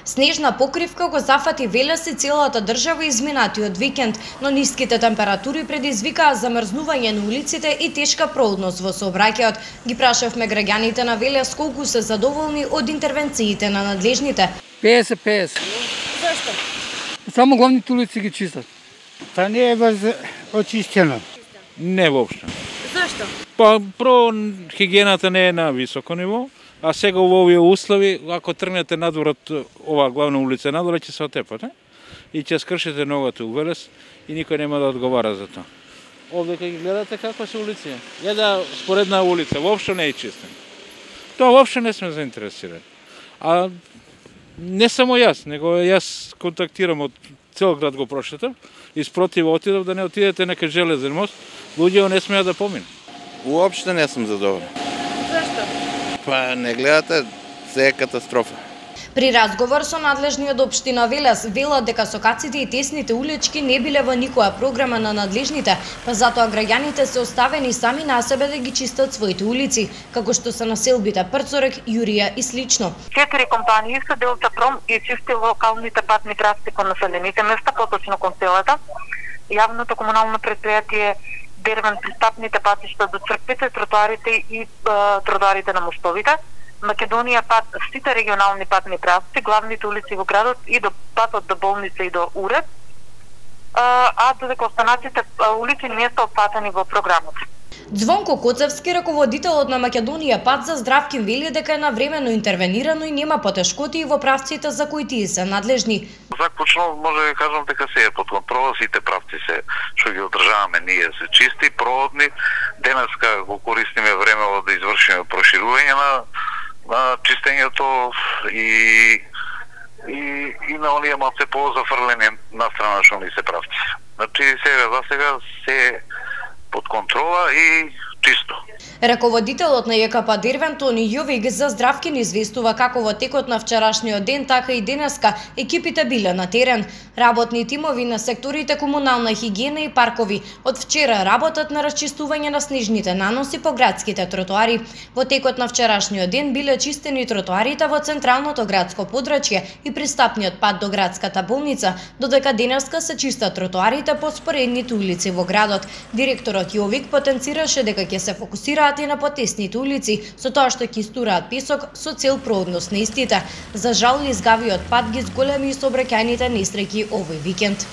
Снежна покривка го зафати Велес и целата држава изминатиот викенд, но ниските температури предизвикаа замрзнување на улиците и тешка проводност во сообраќајот. Ги прашавме граѓаните на Велес колку се задоволни од интервенциите на надлежните. 50-50. Зашто? Само главните улици ги чистат. Та не е очистено. Не воопшто. Зашто? Па про хигиената не е на високо ниво, а сега во овие услови, ако тргнете надвор од оваа главна улица надвор, ќе се отепате и ќе скршите ногата у Велес и никој нема да одговара за тоа. Овде кога ги гледате каква се улици, една споредна улица, воопшто не е чистена. Тоа воопшто не сме заинтересирани. А не само јас, него јас контактирам од цел град го прошетав и спротив отидов да не отидете нека железен мост, луѓето не смеат да поминат. Уопште не сум задоволен. Зашто? Па не гледате, се е катастрофа. При разговор со надлежниот општина Велес велат дека сокаците и тесните улички не биле во никоја програма на надлежните, па затоа граѓаните се оставени сами на себе да ги чистат своите улици, како што се населбите Прцорек, Јурија и слично. 4 компании се Делтапром и чисти локалните патни траси кон населените места, поточно кон селата. Јавното комунално предпријатие Дервен пристапните патишта до црквите, тротоарите и тротоарите на мостовите. Македонија пат сите регионални патни траси, главните улици во градот и до патот до болница и до уред, а додека останатите улици не се опфатени во програмот. Звонко Коцевски, раководителот на Македонија пат за Здравкин, вели дека е навремено интервенирано и нема потешкоти во правците за кои тие се надлежни. Заклучно може да кажам дека се е под контрола, сите правци се што ги одржаваме ние се чисти, проводни. Денеска го користиме времево да извршиме проширување на чистењето и на оние малце по-зафрлени на страна што ни се правци. Значи сега се под контрола и чисто. Раководителот на ЈКП Дервен Тони Јовик за Здравкин известува како во текот на вчерашниот ден, така и денеска екипите биле на терен. Работни тимови на секторите комунална хигиена и паркови од вчера работат на расчистување на снежните наноси по градските тротоари. Во текот на вчерашниот ден биле чистени тротоарите во централното градско подрачје и пристапниот пат до градската болница, додека денеска се чистат тротоарите по споредните улици во градот. Директорот Јовик потенцираше дека ќе се фокусираат и на потесните улици, со тоа што ќе истураат песок со цел проводност на истите. За жал, изгавиот пат ги зголеми сообраќајните несреќи овој викенд.